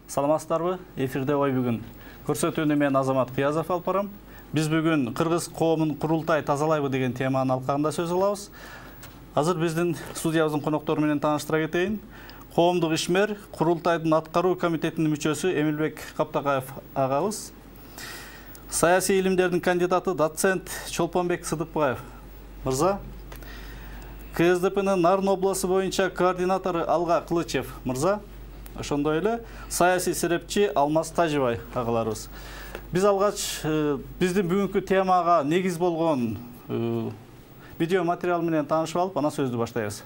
Саламатсыздарбы? Эфирде ой бүгүн. Көрсөтүүнү мен Азамат Кыязов алып барам. Биз бүгүн кыргыз коомун курултай тазалайбы деген теманын алкагында сөз кылабыз. Азыр биздин студиябыздын коноктору менен тааныштыра кетейин. Коомдук ишмер курултайдын аткаруу комитетинин мүчөсү Эмилбек Каптакаев агабыз. Саясий илимдердин кандидаты доцент Чолпонбек Сыдыкбаев мырза. КСДПнын Нарын областы боюнча координатору Алга Кылычев мырза. Ошондой эле саясий серепчи Алмаз Тажибай агаларыбыз. Биз алгач биздин бүгүнкү темага негиз болгон видео материал менен таанышып алып, анан сөздү баштайбыз.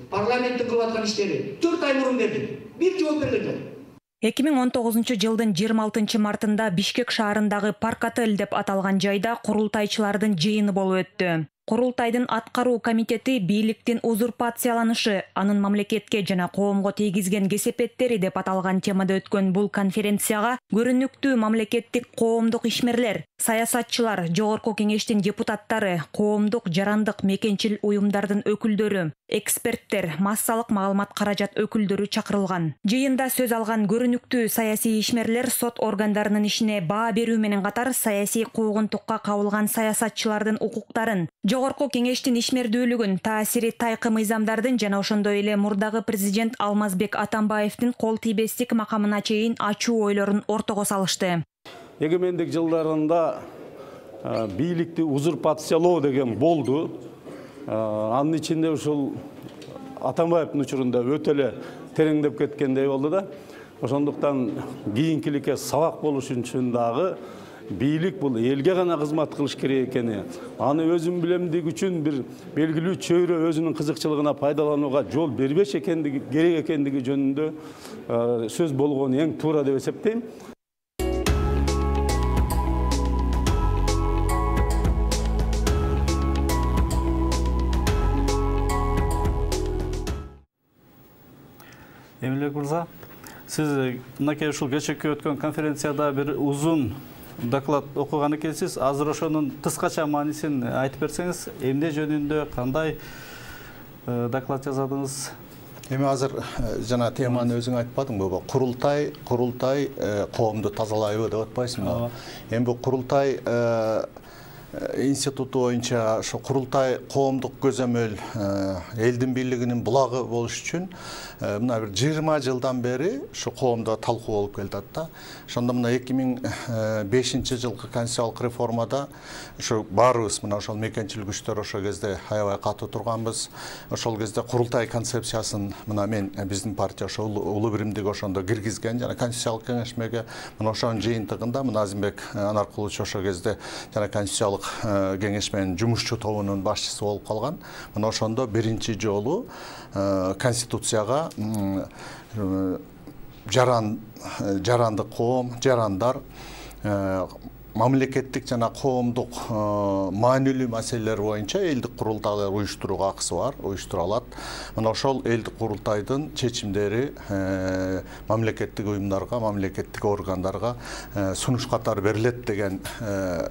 Парламенттин кылып аткан иштери 4 ай мурун берди. Бир жооп берген жок. 2019 жылдын 26 мартында Бишкек шаарындагы Парк Отель деп аталган жайда курултайчылардын жыйыны болуп өттү. Курултайдын аткаруу комитети бийликтин узурпацияланышы, анын мамлекетке жана коомго тийгизген кесепеттери деп аталган темада өткөн бул конференцияга көрүнүктүү мамлекеттик коомдук ишмерлер, саясатчылар, жогорку кеңештин депутаттары, коомдук жарандык мекенчил уюмдардын өкүлдөрү, эксперттер, массалык маалымат каражат өкүлдөрү чакырылган. Жыйында сөз алган көрүнүктүү саясий ишмерлер сот органдарынын ишине баа берүү менен катар саясий куугунтукка кабылган саясатчылардын укуктарын, жогорку кеңештин ишмердүүлүгүн, таасири тайкы мыйзамдардын жана ошондой эле мурдагы президент Алмазбек Атамбаевдин кол тийбестик макамына чейин ачуу ойлорун ортого салышты. Эгемендик жылдарында бийликти узурпациялоо деген болду. Анын ичинде ушул Атамбаевдин учурунда өтө эле тереңдеп кеткендей болду да. Ошондуктан кийинкиликке сабак болуш үчүн дагы бийлик бул элге гана кызмат кылыш керек экени, аны өзүн билемдик үчүн бир белгилүү чөйрө өзүнүн кызыкчылыгына пайдаланууга жол бербеш экендиги керек экендиги жөнүндө сөз болгону эң туура деп эсептейм. Эмилбек мырза, сиз мынакей ушул кечээкү өткөн конференцияда бир узун доклад окуган экенсиз. Азыр ошонун кыскача маанисин айтып берсеңиз, эмне жөнүндө кандай доклад жаздыңыз? Эми азыр жана теманы өзүң айтпадыңбы? Курултай коомду тазалайбы деп атпайсыңбы? Эми бул курултай институту боюнча ошо курултай коомдук көзөмөл элдин бийлигинин булагы болуш үчүн мына бир 20 жылдан бери ушу коомдо талкуу болуп келатат да. Ошондо мына 2005 жылкы конституциялык реформада ушу баарыбыз мына ошол мекенчил күчтөр ошол кезде аябай катуу турганбыз. Ошол кезде курултай концепциясын мына мен биздин партия ошо улуу биримдик ошондо киргизген жана конституциялык кеңешмеге мына ошонун жыйынтыгында мына Азимбек Анаркулович ошол кезде жана конституциялык кеңешменин жумушчу тобунун башчысы болуп калган. Мына ошондо биринчи жолу конституцияга жарандык коом, жарандар мамлекеттик жана коомдук маанилүү маселелер боюнча элдик курултайлар уюштурууга акысы бар, уюштура алат. Мына ошол элдик курултайдын чечимдери мамлекеттик уюмдарга, мамлекеттик органдарга сунуш катары берилет деген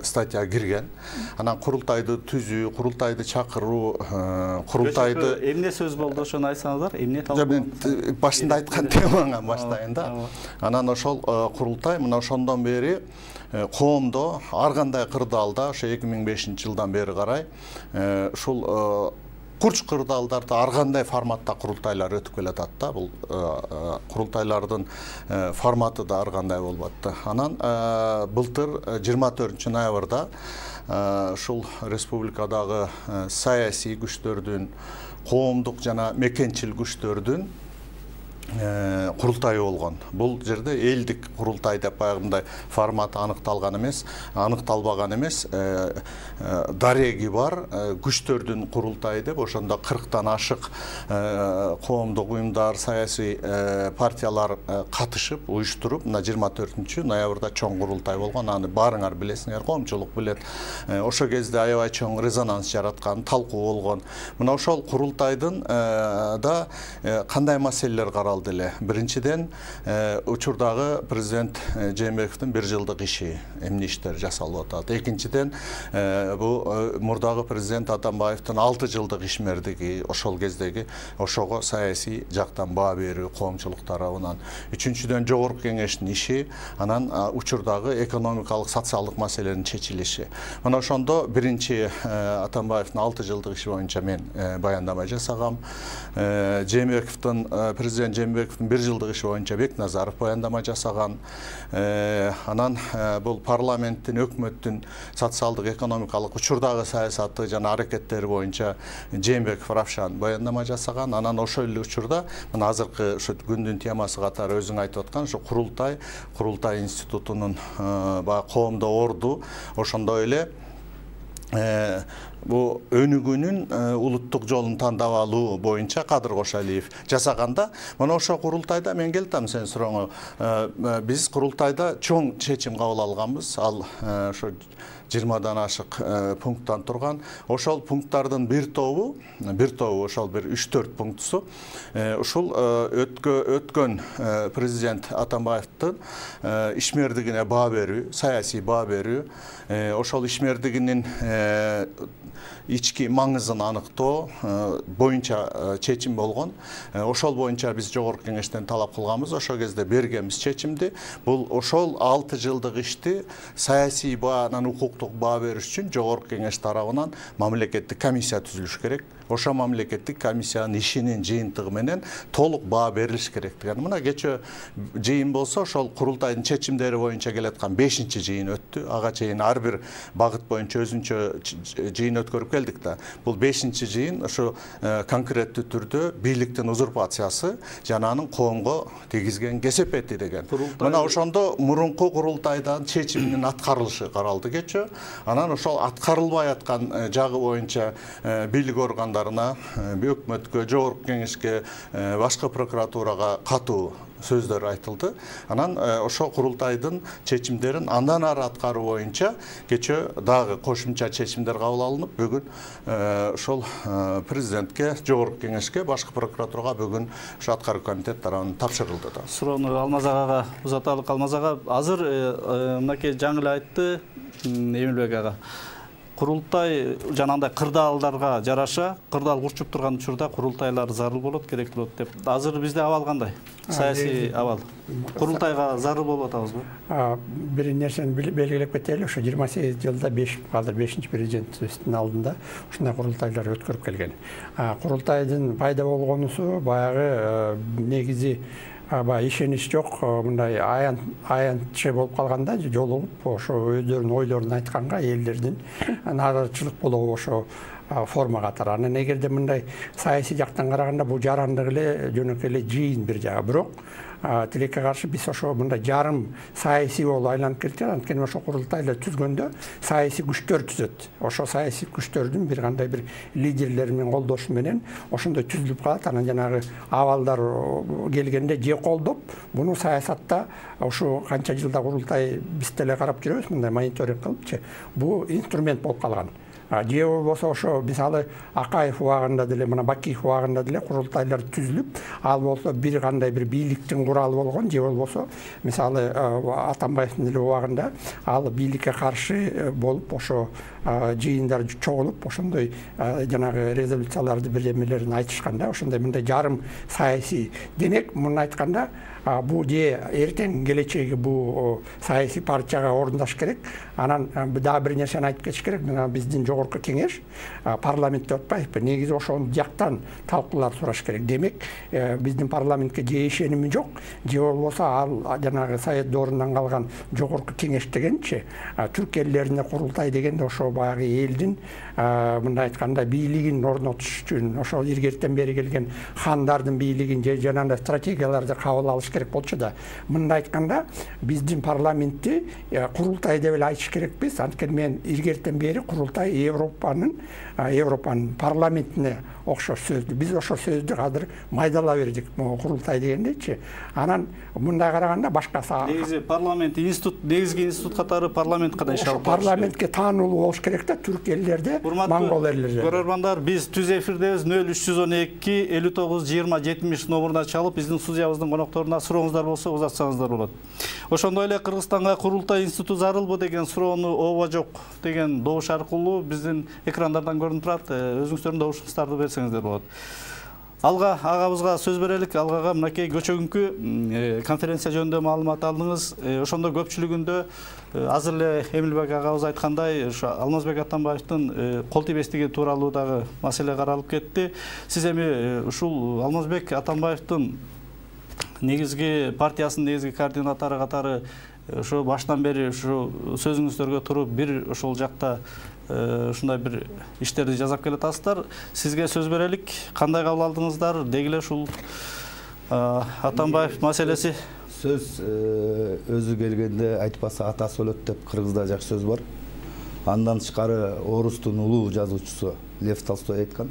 статья кирген. Анан курултайды түзүү, курултайды чакыруу, курултайды эмне сөз болду, ошону айтсаңыздар, эмне талкуу? Башында айткан темаңа баштайын да. Анан ошол курултай мына ошондон бери коомдо ар кандай кырдаалда ошо 2005 жылдан бери карай ушул курч кырдаалдарда ар кандай форматта курултайлар өтүп келатат да. Бул курултайлардын форматы да ар кандай болуп атты. Анан былтыр 24 ноябрда ушул республикадагы саясий күчтөрдүн, коомдук жана мекенчил күчтөрдүн курултайы болгон. Бул жерде элдик курултай деп баягындай форматы аныкталбаган эмес, дареги бар күчтөрдүн курултайы деп ошондо 40тан ашык коомдук уюмдар, саясий партиялар катышып, уюштуруп, мына 24 ноябрда чоң курултай болгон. Аны баарыңар билесиңер, коомчулук билет. Ошол кезде аябай чоң резонанс жараткан, талкуу болгон. Мына ошол курултайдын да кандай маселелер каралды калды эле. Биринчиден учурдагы президент Жээнбековдун 1 жылдык иши, эмне иштер жасалып атат. Экинчиден бул мурдагы президент Атамбаевдин 6 жылдык ишмердиги, ошол кездеги ошого саясий жактан баа берүү коомчулук тарабынан. Үчүнчүдөн жогорку кеңештин иши, анан учурдагы экономикалык, социалдык маселенин чечилиши. Мына ошондо биринчи Атамбаевдин 6 жылдык иши боюнча мен баяндама жасагам. Президент Жээнбековдун 1 жылдык иши боюнча Бекназаров баяндама жасаган. Анан бул парламенттин, өкмөттүн социалдык, экономикалык учурдагы саясаты жана аракеттери боюнча Жээнбеков Равшан баяндама жасаган. Анан ошол эле учурда мына азыркы ушу күндүн темасы катары өзүң айтып аткан ушу курултай институтунун баягы коомдо орду, ошондой эле бу өнүгүүнүн улуттук жолун тандап алуу боюнча Кадыр Кошалиев жасаганда, мына ошол курултайда мен келтем сен сурооңо. Биз курултайда чоң чечим кабыл алганбыз. Ал ошо 20дан ашык пункттан турган. Ошол пункттардын бир тобу ошол бир 3-4 пунктусу ушул өткөн президент Атамбаевдин ишмердигине баа берүү, саясий баа берүү, ошол ишмердигинин ички маңызын аныктоо боюнча чечим болгон. Ошол боюнча биз жогорку кеңештен талап кылганбыз. Ошол кезде бергенбиз чечимди. Бул ошол 6 жылдык ишти саясий баа, анан укуктук баа бериш үчүн жогорку кеңеш тарабынан мамлекеттик комиссия түзүлүш керек. Ошо мамлекеттик комиссиянын ишинин жыйынтыгы менен толук баа берилиш керек деген. Мына кечээ жыйын болсо, ошол курултайдын чечимдери боюнча келаткан 5-чи жыйын өттү. Ага чейин ар бир багыт боюнча өзүнчө жыйын өткөрүп келдик да. Бул 5-чи жыйын ошо конкреттүү түрдө бийликтин узурпациясы жана анын коомго тийгизген кесепети деген. Мына ошондо мурунку курултайдан чечимдин аткарылышы каралды кечээ. Анан ошол аткарылбай аткан жагы боюнча бийлик органдарына, өкмөткө, жогорку кеңешке, башкы прокуратурага катуу сөздөр айтылды. Анан ошо курултайдын чечимдерин андан ары аткаруу боюнча кечээ дагы кошумча чечимдер кабыл алынып, бүгүн ошол президентке, жогорку кеңешке, башкы прокуратурага бүгүн ошо аткаруу комитет тарабынан тапшырылды да. Суроону Алмаз агага узаталык. Алмаз ага, азыр мынакей жаңы эле айтты Эмилбек ага. Курултай жанагындай кырдаалдарга жараша, кырдаал курчуп турган учурда курултайлар зарыл болот, керек болот деп. Азыр бизде абал кандай? Саясий абал. Курултайга зарыл болуп атабызбы? Бир нерсени белгилеп кетели, ошо 28 жылда азыр 5-чи президенттин алдында ушундай курултайлар өткөрүп келген. Курултайдын пайда болгонусу баягы негизи ишенич жок, мындай аянтчы болуп калганда жолугуп ошо өздөрүнүн ойлорун айтканга элдердин наразычылык болобу ошо форма катары. Анан эгерде мындай саясий жактан караганда бул жарандык эле жөнөкөй эле жыйын бир жагы. Бирок тилекке каршы биз ошо мындай жарым саясий болуп айланып кетти. Анткени ошо курултайлар түзгөндө саясий күчтөр түзөт. Ошо саясий күчтөрдүн бир кандай бир лидерлери менен колдошу менен ошондой түзүлүп калат. Анан жанагы абалдар келгенде же колдоп, буну саясатта ошо канча жылда курултай биз деле карап жүрөбүз, мындай мониторинг кылыпчы. Бул инструмент болуп калган. Же болбосо ошо мисалы Акаев убагында деле, мына Бакиев убагында деле курултайлар түзүлүп, ал болсо бир кандай бир бийликтин куралы болгон, же болбосо мисалы Атамбаевдин деле убагында ал бийликке каршы болуп, ошо жыйындар чогулуп, ошондой жанагы резолюцияларды бир эмелерин айтышканда, ошондой мындай жарым саясий. Демек, муну айтканда, бул же эртең келечеги бул саясий партияга орундаш керек. Анан дагы бир нерсени айтып кетиш керек. Мына биздин жогорку кеңеш парламентте отпайбы, негизи ошол жактан талкуулар сураш керек. Демек, биздин парламентке же ишеними жок, же болбосо ал жанагы Совет доорунан калган жогорку кеңеш дегенчи, түрк элдерине курултай дегенде ошо баягы элдин мындай айтканда бийлигин орнотуш үчүн ошол илгертен бери келген хандардын бийлигин же жанагындай стратегияларды кабыл алыш керек болчу да. Мындай айтканда, биздин парламентти курултай деп эле айтыш керекпиз. Анткени мен илгертен бери курултай Европанын парламентине окшош сөздү. Биз ошол сөздү азыр майдалап бердик, курултай дегендечи. Анан мындай караганда башкасы негизи парламент институт, негизги институт катары парламент кана иш алып барыш. Парламентке таануулуу болуш керек да, түрк элдерде, монгол элдерде. Көрөрмандар, биз түз эфирдебиз. 0312 59 20 70 номуруна чалып, биздин студиябыздын конокторуна сурооңуздар болсо узатсаңыздар болот. Ошондой эле Кыргызстанга курултай институту зарылбы деген суроону ооба жок деген добуш аркылуу биздин экрандардан көрүнүп турат. Өзүңүздөрдүн добушуңуздарды берсеңиздер болот. Алга агабызга сөз берелик. Алгага мынакей көчөгүнкү конференция жөнүндө маалымат алдыңыз. Ошондо көпчүлүгүндө азыр эле Эмилбек агабыз айткандай, ошо Алмазбек Атамбаевдин кол тийбестиги тууралуу дагы маселе каралып кетти. Сиз эми ушул Алмазбек Атамбаевдин негизги партиясынын негизги координатору катары ошо баштан бери ушу сөзүңүздөргө туруп бир ошол жакта ушундай бир иштерди жасап келатасыздар. Сизге сөз берелик. Кандай кабыл алдыңыздар? Деги эле ушул Атамбаев маселеси. Сөз өзү келгенде айтпаса атасы өлөт деп кыргызда жакшы сөз бар. Андан тышкары орустун улуу жазуучусу Лев Толстой айткан.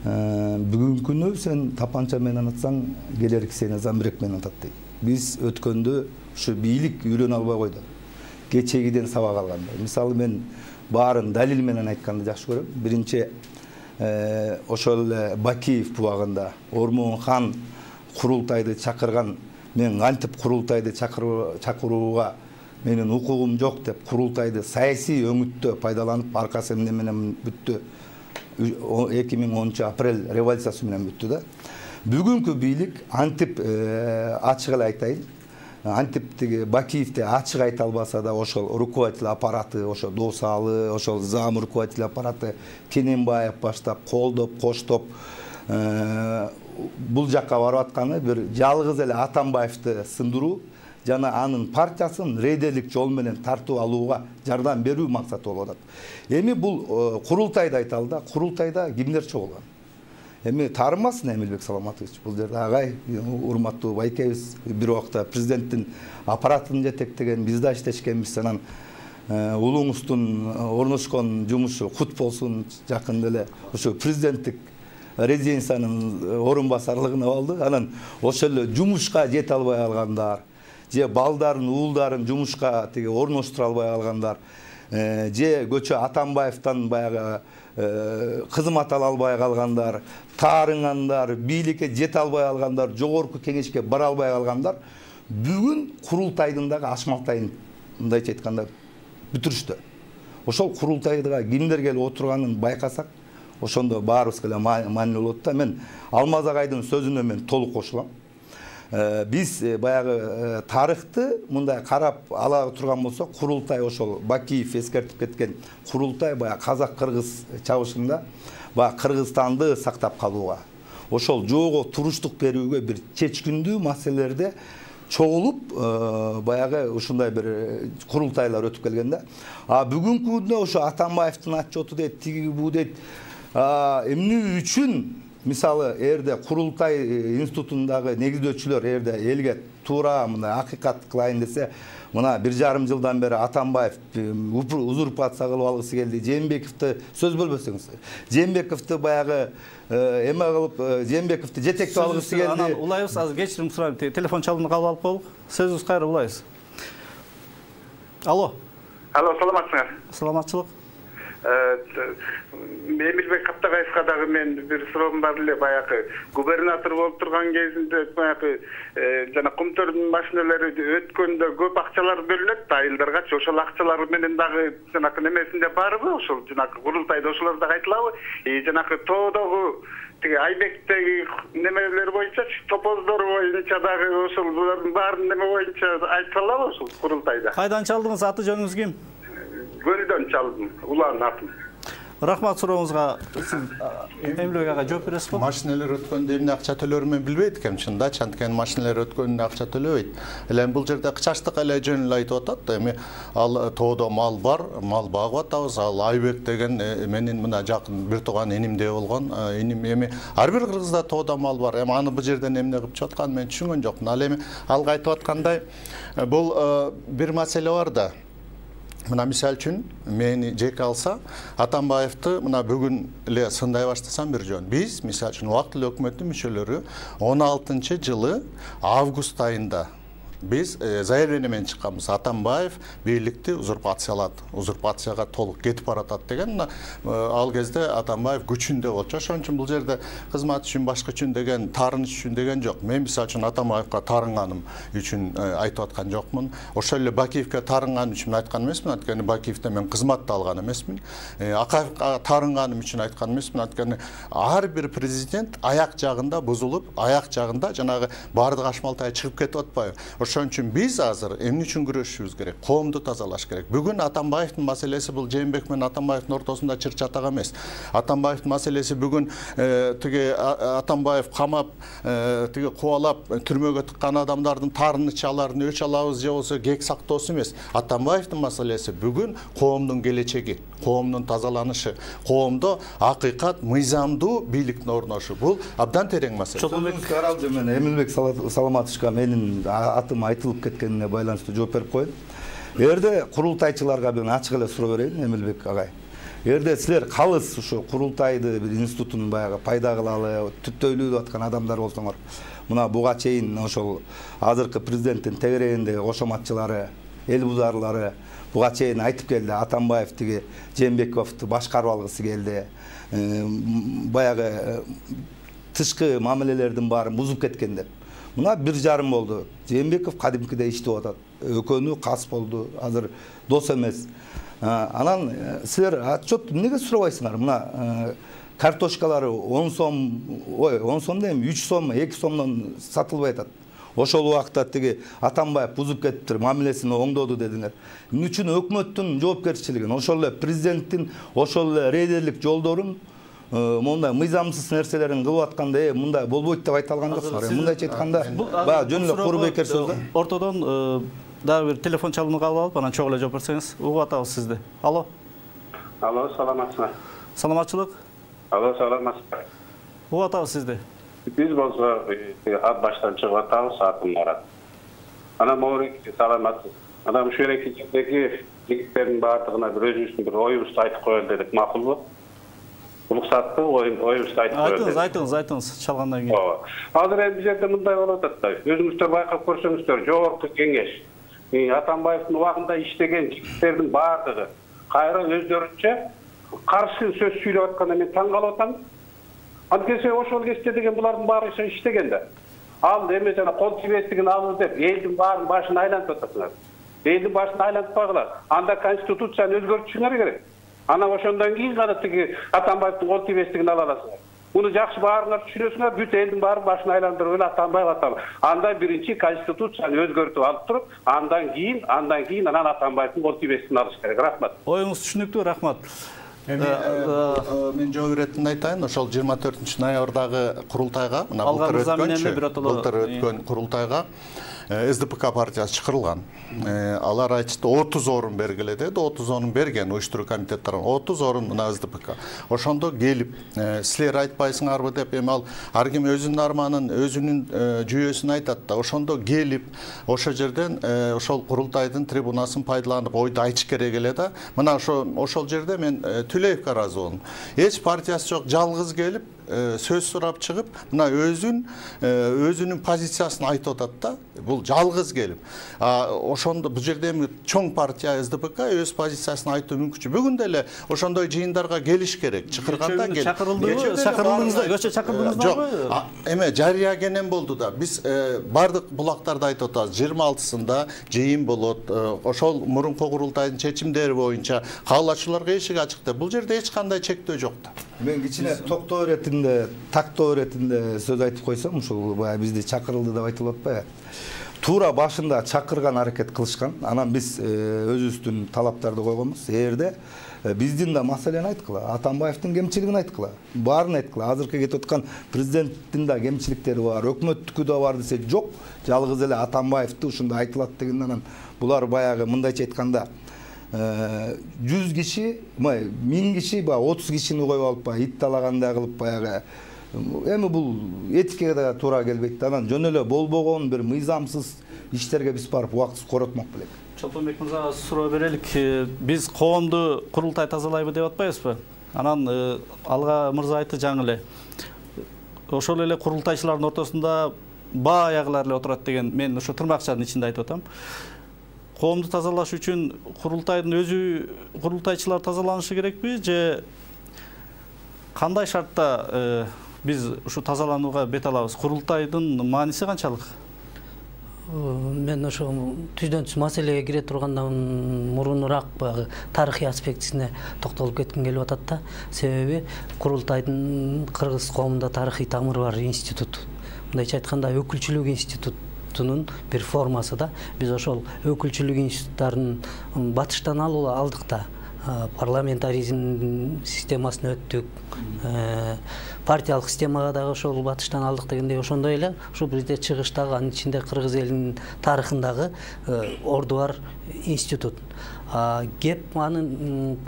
Бүгүнкү күнү сен тапанча менен атсаң, келерки сени замбирек менен атат дейт. Биз өткөндө ушу бийлик үйрөнө албай койду. Кечегиден сабак алганда. Мисалы мен баарын далил менен айтканды жакшы көрөм. Биринчи ошол Бакиев бубагында Ормон-хан курултайды чакырган, мен кантип курултайды чакырууга менин укугум жок деп курултайды саясий өңүттө пайдаланып аркасы эмне менен бүттү. 2010 апрель революциясы менен бүттү да. Бүгүнкү бийлик антип ачык эле айтайын. Антиптиги Бакиевди ачык айта албаса да ошол руководитель аппараты, ошол Досалы, ошол зам руководитель аппараты Кененбаев баштап колдоп, коштоп бул жакка барып атканы бир жалгыз эле Атамбаевди сындыруу жана анын партиясын рейдерлик жол менен тартып алууга жардам берүү максаты болуп атат. Эми бул курултайда айталы да, курултайда кимдер чогулган? Эми таарымасын Эмилбек Саламатович, бул жерде агай, урматтуу байкебиз, бир убакта президенттин аппаратын жетектеген, биз да иштешкенбиз, анан улуңуздун орношкон жумушу кут болсун, жакында эле ошо президенттик резиденциянын орун басарлыгына алды. Анан ошол эле жумушка жете албай алгандар, же балдарын, уулдарын жумушка тиги орноштура албай алгандар, же көчө Атамбаевден баягы кызмат ала албай калгандар, таарынгандар, бийликке жете албай алгандар, жогорку кеңешке бара албай калгандар бүгүн курултайдын дагы ашмалтайын мындайча айтканда бүтүрүштү. Ошол курултайга кимдер келип отурганын байкасак, ошондо баарыбызга эле маанилүү болот да. Мен Алмаз агайдын сөзүнө мен толук кошулам. Биз баягы тарыхты мындай карап ала турган болсок, курултай ошол Бакиев эскертип кеткен курултай баягы казак-кыргыз чабышында баягы Кыргызстанды сактап калууга, ошол жоого туруштук берүүгө бир чечкиндүү маселелерде чогулуп баягы ушундай бир курултайлар өтүп келген да. Бүгүнкү күндө ошо Атамбаевдин отчету дейт, тиги бу дейт. Эмне үчүн мисалы эрде курултай институтундагы негиздөөчүлөр эрде элге туура мына акыйкат кылайын десе, мына 1,5 жылдан бери Атамбаев узурпация кылып алгысы келди. Жээнбековду сөз бөлбөсөңүз. Жээнбековду баягы эме кылып, Жээнбековду жетектеп алгысы келди. Анан улайбыз, азыр кечирим сурайм. Телефон чалууну кабыл алып коелук. Сөзүңүз кайра улайбыз. Алло. Алло, саламатсыңар? Саламатчылык. Эмилбек Каптагаевга дагы мен бир суроом бар эле. Баягы губернатор болуп турган кезинде баягы жана Кумтөрдүн машиналары өткөндө көп акчалар бөлүнөт да айылдаргачы. Ошол акчалар менен дагы жанакы немесинде барбы? Ошол жанакы курултайда ошолор дагы айтылабы? Жанакы тоодогу тиги Айбектеги немелер боюнча, топоздор боюнча дагы ошол булардын баарын неме боюнча айтылабы ошол курултайда? Кайдан чалдыңыз? Аты жөнүңүз ким? Көлдөн чалдым, улан атым. Рахмат сурооңузга. Сиз Эмилбек ага жооп бересизби? Машиналар өткөндө эмне акча төлөөрүн мен билбейт экенмин чынында. Анткени машиналар өткөндө акча төлөбөйт. Эле бул жерде кычачтык эле жөн эле айтып атат. Эми ал тоодо мал бар, мал багып атабыз. Ал Айбек деген менин мына жакын бир тууган энимдей болгон. Эним эми ар бир кыргызда тоодо мал бар. Эми аны бул жерден эмне кылып чыгып атканын мен түшүнгөн жокмун. Ал эми алга айтып аткандай бул бир маселе бар да. Мына мисал үчүн мени жеке алса, Атамбаевди мына бүгүн эле сындай баштасам бир жөн. Биз мисал үчүн убактылуу өкмөттүн мүчөлөрү 16-жылы август айында биз заявление менен чыкканбыз. Атамбаев бийликти узурпациялады. Узурпацияга толук кетип баратат деген. Ал кезде Атамбаев күчүндө болчу. Ошон үчүн бул жерде кызмат үчүн, башка үчүн деген, таарыныч үчүн деген жок. Мен мисал үчүн Атамбаевга таарынганым үчүн айтып аткан жокмун. Ошол эле Бакиевге таарынганым үчүн айткан эмесмин. Анткени Бакиевде мен кызматты алган эмесмин. Акаевга таарынганым үчүн айткан эмесмин. Анткени ар бир президент аяк жагында бузулуп, аяк жагында жанагы баардык ашмалтай чыгып кетип атпайбы? Ошон үчүн биз азыр эмне үчүн күрөшүшүбүз керек? Коомду тазалаш керек. Бүгүн Атамбаевдин маселеси бул Жээнбек менен Атамбаевдин ортосунда чыр чатак эмес. Атамбаевдин маселеси бүгүн тиги Атамбаев камап, тиги кубалап түрмөгө тыккан адамдардын таарынычаларын өч алабыз же болбосо кек сактоосу эмес. Атамбаевдин маселеси бүгүн коомдун келечеги, коомдун тазаланышы, коомдо акыйкат, мыйзамдуу бийликтин орношу. Бул абдан терең маселе. Мен Эмилбек Саламатовичка менин атым айтылып кеткенине байланыштуу жооп берип коеюн. Эгерде курултайчыларга мен ачык эле суроо берейин, Эмилбек агай. Эгерде силер калыс ушу курултайды бир институтун баягы пайда кылалы, түптөйлүү деп аткан адамдар болсоңор, мына буга чейин ошол азыркы президенттин тегерегиндеги кошоматчылары, эл бузарлары буга чейин айтып келди. Атамбаев тиги Жээнбековду башкарып алгысы келди. Баягы тышкы мамилелердин баарын бузуп кеткен деп. Мына 1,5 болду. Жээнбеков кадимкидей иштеп атат. Экөөнү кас болду. Азыр дос эмес. Анан силер отчет эмнеге сурабайсыңар? Мына картошкалары 10 сом, 10 сом дейм, 3 сом, 2 сомдон сатылбай атат. Ошол убакта тиги Атамбаев бузуп кетиптир, мамилесин оңдоду дедиңер. Эмне үчүн өкмөттүн жоопкерчилигин, ошол эле президенттин ошол эле рейдерлик жолдорун мондай мыйзамсыз нерселерин кылып атканда мындай болбойт деп айта алган жоксуңар. Мындайча айтканда баягы жөн эле куру бекер сөз да. Ортодон дагы бир телефон чалууну кабыл алып, анан чогуу эле жооп берсеңиз, угуп атабыз сизди. Алло. Алло, саламатсызбы? Саламатчылык. Алло, саламатсызбы? Угуп атабыз сизди. Биз болсо ат баштан чыгып атабыз, атын барат. Анан могу саламатсыз. Анан ушул жердеги жигиттердин баардыгына бир өзүбүздүн бир оюбузду айтып коелу дедик, макулбу? Уруксатты оюбузду айтып коелу. Айтыңыз, чалгандан кийин. Азыр эми бул жерде мындай болуп атат да. Өзүңүздөр байкап көрсөңүздөр, жогорку кеңеш Атамбаевдин убагында иштеген жигиттердин баардыгы кайра өздөрүнчө каршы сөз сүйлөп атканда мен таң калып атам. Анткени ошол кезде деген булардын баары иштеген да. Ал эме жана кол тийбестигин алып деп элдин баарын башын айлантып атасыңар. Элдин башын айлантпагыла. Анда конституцияны өзгөртүшүңөр керек. Анан ошондон кийин гана тиги Атамбаевдин кол тийбестигин ала аласыңар. Муну жакшы баарыңар түшүнөсүңөр, бүт элдин баарын башын айландырып эле Атамбаев атам. Анда биринчи конституцияны өзгөртүп алып туруп, андан кийин анан Атамбаевдин кол тийбестигин алыш керек. Рахмат. Оюңуз түшүнүктүү, рахмат. Мен жооп иретин айтайын. Ошол 24 ноябрдагы курултайга, мына былтыр өткөн курултайга СДПК партиясы чакырылган. Алар айтышты 30 орун бергиле деди. 30 орун берген уюштуруу комитеттерин. 30 орун мына СДПК. Ошондо келип, силер айтпайсыңарбы деп эми ал ар ким өзүнүн арманын, өзүнүн жүйөсүн айтат да. Ошондо келип, ошол жерден ошол курултайдын трибунасын пайдаланып ойду айтыш керек эле да. Мына ошол жерде мен Түлеевге ыраазы болдум. Эч партиясы жок, жалгыз келип сөз сурап чыгып, мына өзүнүн позициясын айтып атат да. Бул жалгыз келип. Ошондо бул жерде эми чоң партия СДПК өз позициясын айтуу мүмкүнчү. Бүгүн деле ошондой жыйындарга келиш керек. Чакырганда кел. Көчө чакырдыңызбы? Жок. Эме жарыя кенен болду да. Биз бардык булактарда айтып атабыз. 26-сында жыйын болот. Ошол мурунку курултайдын чечимдери боюнча каалачуларга эшик ачык деп. Бул жерде эч кандай чектөө жок да. Мен кичине токтоо иретинде, тактоо иретинде сөз айтып койсом, ушул баягы бизди чакырылды деп айтылып атпайбы? туура башында чакырган аракет кылышкан. Анан биз өзүбүздүн талаптарды койгонбуз. Эгерде биздин да маселени айткыла, Атамбаевдин кемчилигин айткыла, баарын айткыла. Азыркы кетип аткан президенттин да кемчиликтери бар, өкмөттүкү да бар десе жок. Жалгыз эле Атамбаевди ушундай айтылат деген анан булар баягы мындайча айтканда 100 киши, 1000 киши, 30 кишини коюп алып ит талагандай кылып баягы эми бул этикага да туура келбейт. Анан жөн эле болбогон бир мыйзамсыз иштерге биз барып убактысыз коротмок белек. Чолпонбек мырзага суроо берелик. Биз коомду курултай тазалайбы деп атпайбызбы? Анан алга мырза айтты жаңы эле. Ошол эле курултайчылардын ортосунда баягылар эле отурат деген мен ошо тырмакчанын ичинде айтып атам. Коомду тазалаш үчүн курултайдын өзү курултайчылар тазаланышы керекпи же кандай шартта биз ушу тазаланууга бет алабыз? Курултайдын мааниси канчалык? Мен ошо түздөн түз маселеге кире тургандан мурунураак баягы тарыхый аспектисине токтолуп кетким келип атат да. Себеби курултайдын кыргыз коомунда тарыхый тамыры бар институт. Мындайча айтканда өкүлчүлүк институтунун бир формасы да. Биз ошол өкүлчүлүк институттарын батыштан алдык да. Парламентаризм системасын өттүк, партиялык системага дагы ошол батыштан алдык дегендей, ошондой эле ушу бизде чыгыштагы анын ичинде кыргыз элинин тарыхындагы орду бар институт. Кеп анын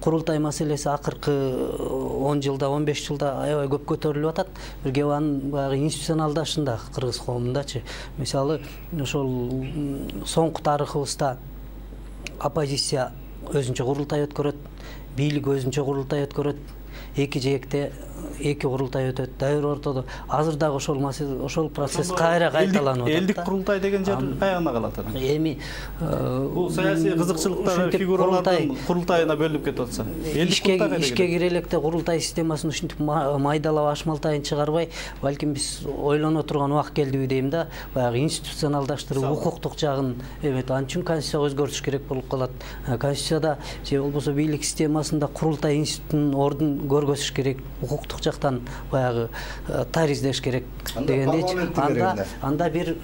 курултай маселеси акыркы 10 жылда, 15 жылда аябай көп көтөрүлүп атат. Бир кеп анын баягы институционалдашында кыргыз коомундачы. Мисалы, ошол соңку тарыхыбызда оппозиция өзүнчө курултай өткөрөт, бийлик өзүнчө курултай өткөрөт, эки жээкте эки курултай өтөт. Дайыр ортодо азыр дагы ошол процесс кайра кайталанып атат. Элдик курултай деген жер каягына калат анан? Эми бул саясий кызыкчылыктагы фигуралардын курултайына бөлүнүп кетип атса. Ишке кире электе курултай системасын ушинтип майдалап ашмалтайын чыгарбай, балким биз ойлоно турган убак келдиби дейм да, баягы институционалдаштырып, укуктук жагын эмет. Ал үчүн конституцияга өзгөртүш керек болуп калат. Конституцияда же болбосо бийлик системасында курултай институтунун ордун көргөзүш керек, укуктук жактан баягы тариздеш керек дегендейчи. Анда бир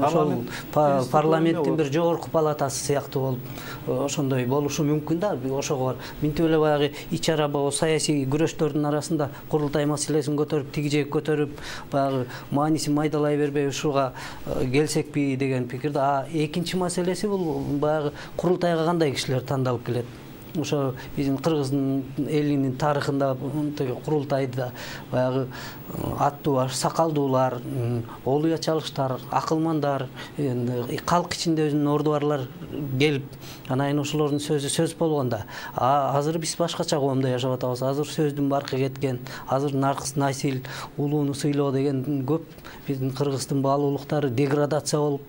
ошол парламенттин бир жогорку палатасы сыяктуу болуп ошондой болушу мүмкүн да. Ошого бар. Минтип эле баягы ичара саясий күрөштөрдүн арасында курултай маселесин көтөрүп, тиги жек көтөрүп, баягы маанисин майдалай бербей ушуга келсекпи деген пикирде. Экинчи маселеси бул баягы курултайга кандай кишилер тандалып келет. Ошо биздин кыргыздын элинин тарыхында курултайда баягы аттуу сакалдуулар, олуя чалыштар, акылмандар, калк ичинде өзүнүн орду барлар келип, анан ошолордун сөзү сөз болгондо. Азыр биз башкача коомдо жашап атабыз. Азыр сөздүн баркы кеткен, азыр наркыс, насил, улууну сыйлоо деген көп. Биздин кыргыздын баалуулуктары деградация болуп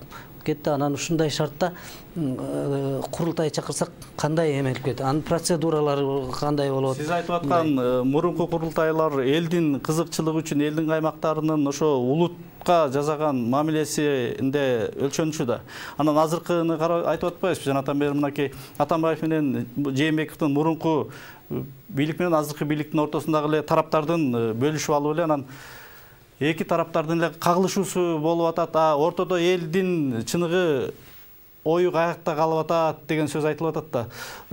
кетти. Анан ушундай шартта курултай чакырсак кандай эмелип кетет? Анын процедуралары кандай болот? Сиз айтып аткан мурунку курултайлар элдин кызыкчылыгы үчүн элдин каймактарынын ошо улутка жасаган мамилесинде өлчөнүшү да. Анан азыркыны айтып атпайбызбы? Жанатан бери мынакей Атамбаев менен Жээнбековдун мурунку бийлик менен азыркы бийликтин ортосундагы эле тараптардын бөлүшүп алуу эле анан эки тараптардын эле кагылышуусу болуп атат. Ортодо элдин чыныгы ою каякта калып атат деген сөз айтылып атат да.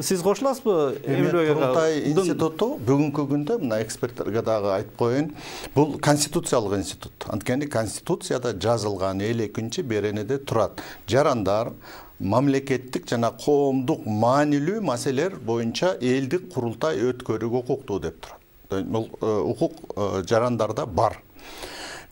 Сиз кошуласызбы? Курултай институту бүгүнкү күндө мына эксперттерге дагы айтып коеюн, бул конституциялык институт. Анткени конституцияда жазылган 52-беренеде турат. Жарандар мамлекеттик жана коомдук маанилүү маселелер боюнча элдик курултай өткөрүүгө укуктуу деп турат. Бул укук жарандарда бар.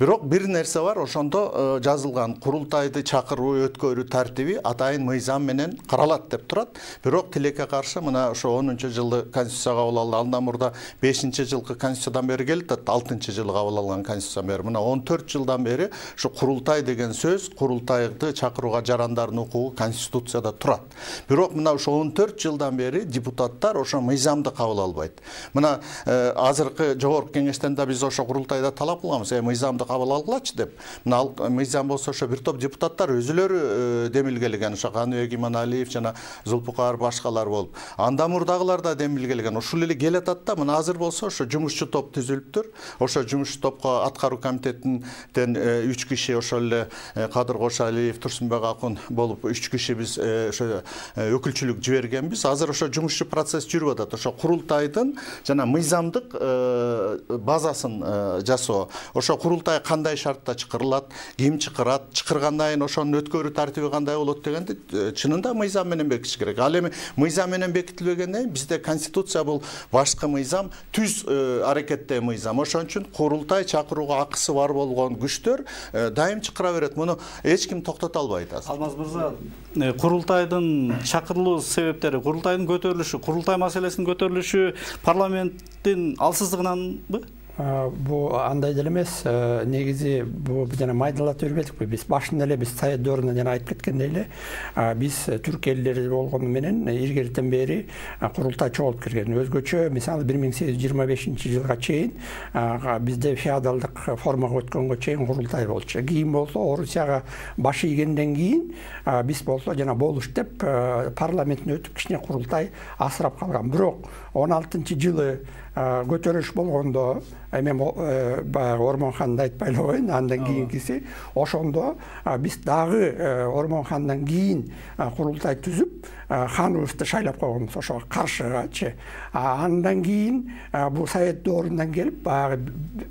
Бирок бир нерсе бар, ошондо жазылган курултайды чакыруу, өткөрүү тартиби атайын мыйзам менен каралат деп турат. Бирок тилекке каршы мына ошо 10-жылы конституция кабыл алынды. Андан мурда 5-жылкы конституциядан бери келет, 6-жылы кабыл алган конституциядан бери. Мына 14 жылдан бери ушу курултай деген сөз, курултайды чакырууга жарандардын укугу конституцияда турат. Бирок мына ошо 14 жылдан бери депутаттар ошо мыйзамды кабыл албайт. Мына азыркы жогорку кеңештен да биз ошо курултайда талап кылганбыз, мыйзамды кабыл алгылачы деп. Мына ал мыйзам болсо ошо бир топ депутаттар өзүлөрү демилгелеген, ошо Каныбек Иманалиев жана Зулпукар башкалар болуп. Андан мурдагылар да демилгелеген. Ушул эле келатат да, мына азыр болсо ошо жумушчу топ түзүлүптүр. Ошо жумушчу топко аткаруу комитетинен 3 киши ошол эле Кадыр Кошалиев, Турсунбек Акун болуп 3 киши биз ошо өкүлчүлүк жибергенбиз. Азыр ошо жумушчу процесс жүрүп атат. Ошо курултайдын жана мыйзамдык базасын жасоо. Ошо курултай кандай шартта чакырылат, ким чакырат, чакыргандан кийин ошонун өткөрүү тартиби кандай болот дегенди чынында мыйзам менен бекитиш керек. Ал эми мыйзам менен бекитилбегенден кийин бизде конституция бул башкы мыйзам, түз аракеттеги мыйзам. Ошон үчүн курултай чакырууга акысы бар болгон күчтөр дайым чакыра берет. Муну эч ким токтото албайт азыр. Алмаз мырза, курултайдын чакырылуу себептери, курултайдын көтөрүлүшү, курултай маселесинин көтөрүлүшү парламенттин алсыздыгынанбы? Бу андай деле эмес. Негизи бу жана майдалатып бербедикпи? Биз башында эле биз Совет дöwрүндө жана айтып кеткендей эле биз түрк элдери болгону менен илгертен бери курултай чогулуп келген. Өзгөчө мисалы 1825-жылга чейин бизде феодалдык формага өткөнгө чейин курултай болчу. Кийин болсо Орусияга баш ийгенден кийин биз болсо жана болуш деп парламенттен өтүп кичине курултай асырап калган. Бирок 16-жылы көтөрүлүш болгондо эми баягы Ормонханды айтпай эле коеюн, андан кийинкиси ошондо биз дагы Ормонхандан кийин курултай түзүп ханыбызды шайлап койгонбуз ошого каршыгачы. Андан кийин бул Совет дöwрүнөн келип баягы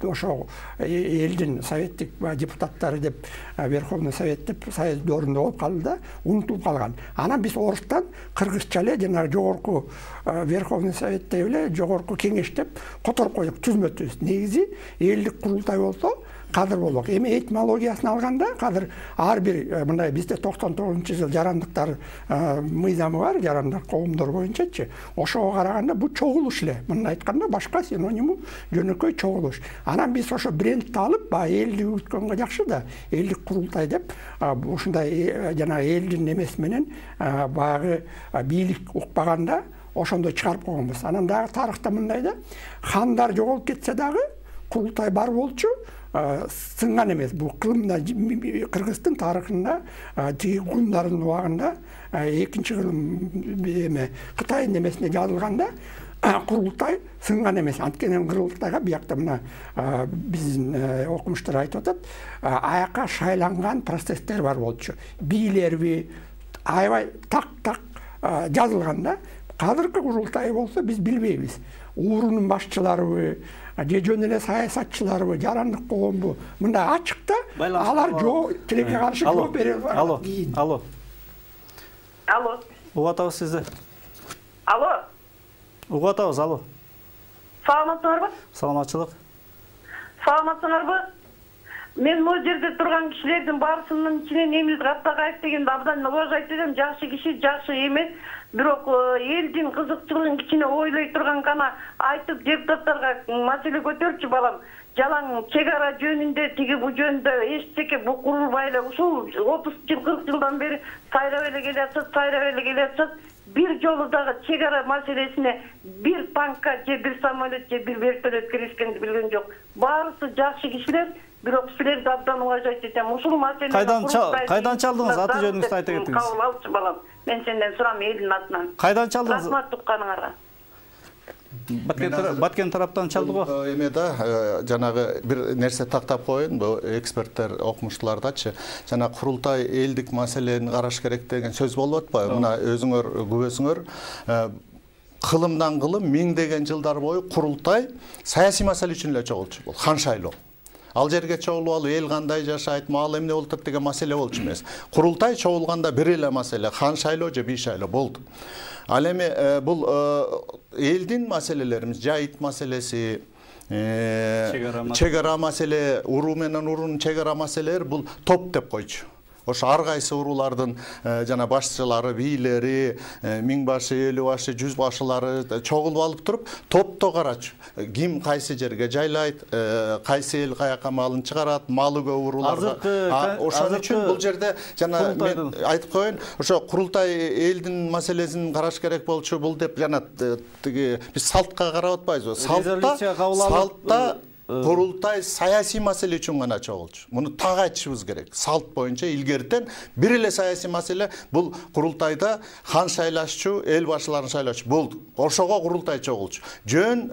ошо элдин советтик депутаттары деп Верховный Совет деп Совет дöwрүндө болуп калды да, унутулуп калган. Анан биз орустан кыргызча эле жанагы жогорку Верховный Совет деп эле жогорку кеңеш деп которуп койдук түзмөтүбүз. Негизи элдик курултай болсо кадыр болмок. Эми этимологиясын алганда кадыр ар бир мындай бизде 99-жыл жарандыктар мыйзамы бар, жарандар коомдор боюнчачы. Ошого караганда бул чогулуш эле. Мындай айтканда башка синониму жөнөкөй чогулуш. Анан биз ошо брендти алып, элди үткөнгө жакшы да, элдик курултай деп ушундай жана элдин эмеси менен баягы бийлик укпаганда ошондой чыгарып койгонбуз. Анан дагы тарыхта мындай да, хандар жоголуп кетсе дагы курултай бар болчу. Сынган эмес. Бул кылымда Кыргыздын тарыхында тиги гундардын убагында экинчи кылым эме Кытайдын эмесинде жазылганда курултай сынган эмес. Анткени курултайга биякта мына биздин окумуштар айтып атат, аяка шайланган процесстер бар болчу. Бийлерби аябай так жазылганда, кадыркы курултай болсо биз билбейбиз. Уурунун башчыларыбы, же жөн эле саясатчыларбы, жарандык коомбу, мындай ачыкта алар тилекке каршы жооп бере албайт. Алло. Угуп атабыз сизди. Угуп атабыз, алло. Саламатсыңарбы? Саламатчылык. Саламатсыңарбы? Мен могу жерде турган кишилердин баарысынын ичинен Эмил Каттакаев дегенди абдан уважать этем, жакшы киши, жакшы эмес. Бирок элдин кызыкчылыгын кичине ойлой турган гана айтып депутаттарга маселе көтөрчү балам. Жалаң чек ара жөнүндө тиги бу жөнүндө эчтеке бу курулбай эле ушул 30 жыл 40 жылдан бери сайрап эле келатсыз. Бир жолу дагы чек ара маселесине бир танкка же бир самолет же бир вертолет киришкенди билген жок. Баарысы жакшы кишилер. Бирок силерди абдан уважать этем. Ушул маселени кайдан чалдыңыз? Аты жөнүңүздү айта кетиңиз. Кабыл алчы балам. Мен сенден сурам элдин атынан. Кайдан чалдыңыз? Рахмат тукканыңарга. Баткен тараптан чалды го. Эме да жанагы бир нерсе тактап коеюн, бу эксперттер окумуштуулардачы. Жана курултай элдик маселени караш керек деген сөз болуп атпайбы? Мына өзүңөр күбөсүңөр кылымдан кылым миңдеген жылдар бою курултай саясий маселе үчүн эле чогулчу. Бул хан шайлоо. Ал жерге чогулуп алып эл кандай жашайт, маал эмне болуп атат деген маселе болчу эмес. Курултай чогулганда бир эле маселе хан шайлоо же би шайлоо болду. Ал эми бул элдин маселелерибиз, жайыт маселеси, чек ара маселе, уруу менен уруунун чек ара маселелери бул топ деп койчу. Ошо ар кайсы уруулардын жана башчылары, бийлери, миң башы, элүү башы, 100 башылары чогулуп алып туруп, топто карачу. Ким кайсы жерге жайлайт, кайсы эл каяка малын чыгарат, малы көп урууларга. Ошон үчүн бул жерде жана мен айтып коеюн, ошо курултай элдин маселесин караш керек болчу бул деп жана тиги биз салтка карап атпайбызбы? Салтта курултай саясий маселе үчүн гана чогулчу. Муну так айтышыбыз керек. Салт боюнча илгертен бир эле саясий маселе бул курултайда хан шайлашчу, эл башчыларын шайлашчу болду. Ошого курултай чогулчу. Жөн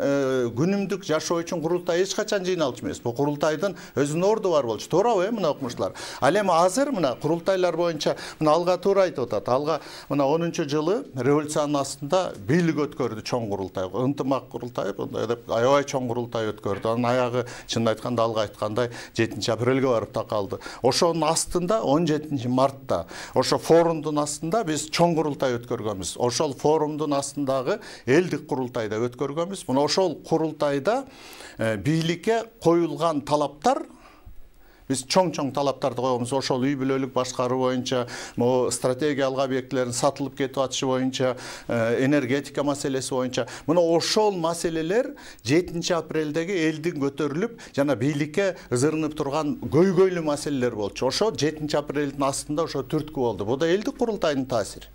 күнүмдүк жашоо үчүн курултай эч качан жыйналчу эмес. Бул курултайдын өзүнүн орду бар болчу. Туурабы мына окумуштуулар? Ал эми азыр мына курултайлар боюнча мына алга туура айтып атат. Алга мына 10-жылы революциянын астында бийлик өткөрдү чоң курултай. Ынтымак курултай деп аябай чоң курултай өткөрдү. Анын аягы чынын айтканда алга айткандай 7-апрелге барып такалды. Ошонун астында 17-мартта ошо форумдун астында биз чоң курултай өткөргөнбүз. Ошол форумдун астындагы элдик курултайда өткөргөнбүз. Мына ошол курултайда бийликке коюлган талаптар биз чоң талаптарды коебуз. Ошол үй бүлөлүк башкаруу боюнча, могу стратегиялык объектилердин сатылып кетип атышы боюнча, энергетика маселеси боюнча. Мына ошол маселелер 7-апрелдеги элдин көтөрүлүп, жана бийликке ызырынып турган көйгөйлүү маселелер болчу. Ошо 7-апрелдин астында ошо түрткү болду. Бул да элдик курултайдын таасири.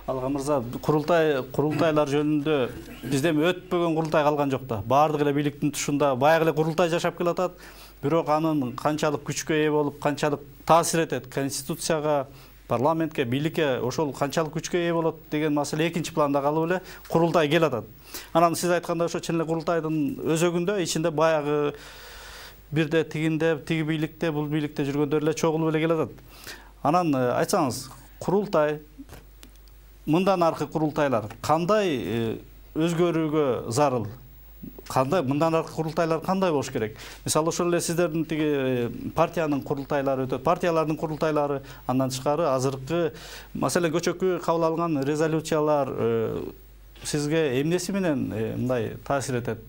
Алга мырза, курултайлар жөнүндө бизде өтпөгөн курултай калган жок да. Баардык эле бийликтин тушунда баягы эле курултай жашап келатат. Бирок анын канчалык күчкө ээ болуп, канчалык таасир этет конституцияга, парламентке, бийликке ошол канчалык күчкө ээ болот деген маселе экинчи планда калып эле курултай келатат. Анан сиз айткандай ошо чын эле курултайдын өзөгүндө ичинде баягы бирде тигинде, тиги бийликте, бул бийликте жүргөндөр эле чогулуп эле келатат. Анан айтсаңыз, курултай мындан аркы курултайлар кандай өзгөрүүгө зарыл? Кандай мындан аркы курултайлар кандай болуш керек? Мисалы ошол эле сиздердин тиги партиянын курултайлары өтөт, партиялардын курултайлары, андан тышкары азыркы маселен көчөккө кабыл алынган резолюциялар сизге эмнеси менен мындай таасир этет?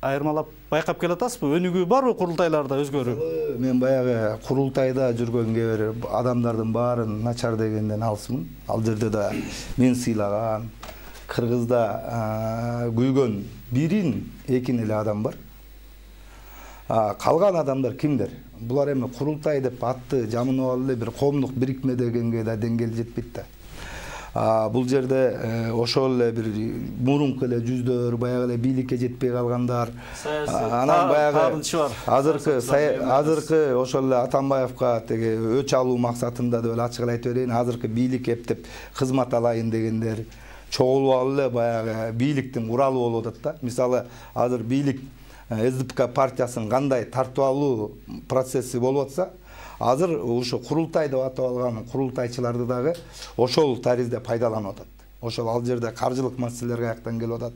Айырмалап байкап келатасызбы? Өнүгүү барбы курултайларда өзгөрүү? Мен баягы курултайда жүргөн кээ бир адамдардын баарын начар дегенден алсымын. Ал жерде да мен сыйлаган Кыргызда күйгөн бирин экин эле адам бар. Калган адамдар кимдер? Булар эми курултай деп атты жамынып алып эле бир коомдук бирикме дегенге да деңгел жетпейт да. Бул жерде ошол эле бир мурунку эле жүздөр, баягы эле бийликке жетпей калгандар. Анан баягы азыркы ошол эле Атамбаевка теги өч алуу максатында деп эле ачык эле айтып берейин, азыркы бийлик эптеп кызмат алайын дегендер чогулуп алып эле баягы бийликтин куралы болуп атат да. Мисалы азыр бийлик СДПК партиясынын кандай тартып алуу процесси болуп атса, азыр ушу курултай деп атап алган курултайчыларды дагы ошол таризде пайдаланып атат. Ошол ал жерде каржылык маселелер каяктан келип атат.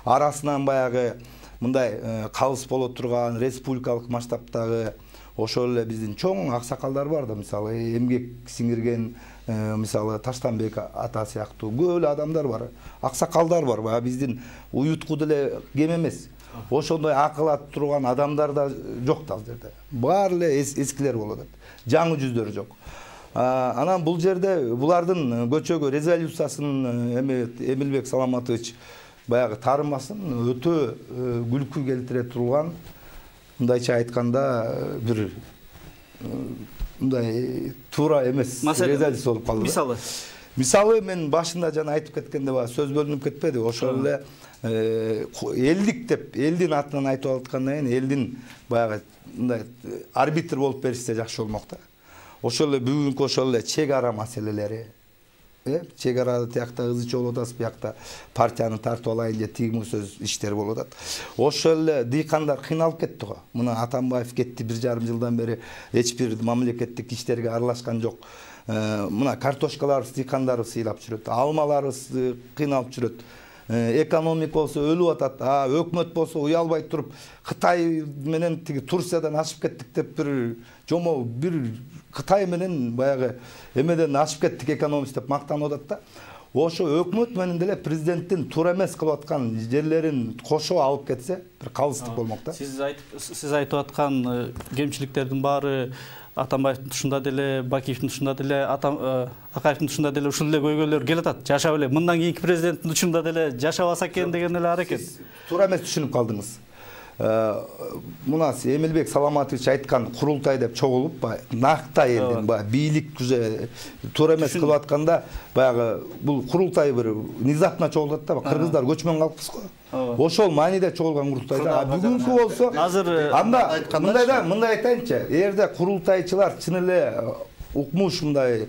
Арасынан баягы мындай кабыз боло турган республикалык масштабтагы ошол эле биздин чоң аксакалдар бар да, мисалы эмгек сиңирген мисалы Таштанбек ата сыяктуу көп эле адамдар бар, аксакалдар бар. Баягы биздин уютку деле кем эмес. Ошондой акыл атып турган адамдар да жок да ал жерде. Баары эле эскилер болуп атат. Жаңы жүздөр жок. Анан бул жерде булардын көчөгө резолюциясын Эмилбек Саламатович баягы таарынмасын өтө күлкү келтире турган, мындайча айтканда бир мындай туура эмес резолюция болуп калды. Мисалы мен башында жана айтып кеткенде сөз бөлүнүп кетпеди. Ошол эле элдик деп элдин атынан айтып аткандан кийин элдин баягы мындай арбитр болуп беришсе жакшы болмок да. Ошол эле бүгүнкү ошол эле чек ара маселелери, чек арада тиякта ызычы болуп атасыз, биякта партияны тартып алайын же тиги сөз иштер болуп атат. Ошол эле дыйкандар кыйналып кетти го. Мына Атамбаев кетти, 1,5 жылдан бери эч бир мамлекеттик иштерге аралашкан жок. Мына картошкаларыбыз, дыйкандарыбыз сыйлап жүрөт, алмаларыбыз кыйналып жүрөт. Экономика болсо өлүп атат. Өкмөт болсо уялбай туруп Кытай менен тиги Турциядан ашып кеттик деп бир Кытай менен баягы эмеден ашып кеттик экономист деп мактанып атат да. Ошо өкмөт менен деле президенттин туура эмес кылып аткан жерлерин кошо алып кетсе бир калыстык болмок да. Сиз айтып аткан кемчиликтердин баары Атамбаевдин тушунда деле, Бакиевдин тушунда деле, Акаевдин тушунда деле ушул эле көйгөйлөр келип атат. Жашап эле мындан кийинки президенттин тушунда деле жашабаса экен деген эле аракет. Туура эмес түшүнүп калдыңыз. мына Эмилбек Саламатович айткан курултай деп чогулуп накта элдин бийлик туура эмес кылып атканда баягы бул курултай бир внезапно чогулат да, кыргыздар көчмөн калкпыз го. Ошол мааниде чогулган курултайда бүгүнкү болсо анда мындай айтайынчы, эгерде курултайчылар чын эле укмуш мындай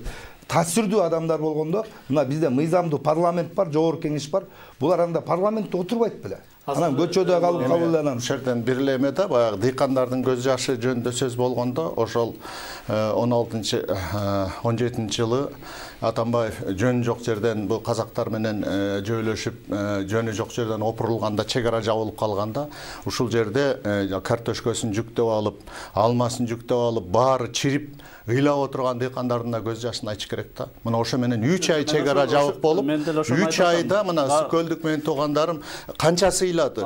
таасирдүү адамдар болгондо, мына бизде мыйзамдуу парламент бар, жогорку кеңеш бар. Булар анда парламентте отурбайт беле. Анан көчөдө калып эле анан ушул жерден бир эле эме да, баягы дыйкандардын көз жашы жөнүндө сөз болгондо, ошол 16-17 жылы Атамбаев жөнү жок жерден бул казактар менен жөөлөшүп, жөнү жок жерден опурулганда, чек ара жабылып калганда, ушул жерде картошкасын жүктөп алып, алмасын жүктөп алып, баары чирип ыйлап отурган дыйкандардын да көз жашын айтыш керек да. Мына ошо менен 3 ай чек ара жабык болуп, 3 айда мына Сүкөлдүк менен туугандарым канчасы ыйлады.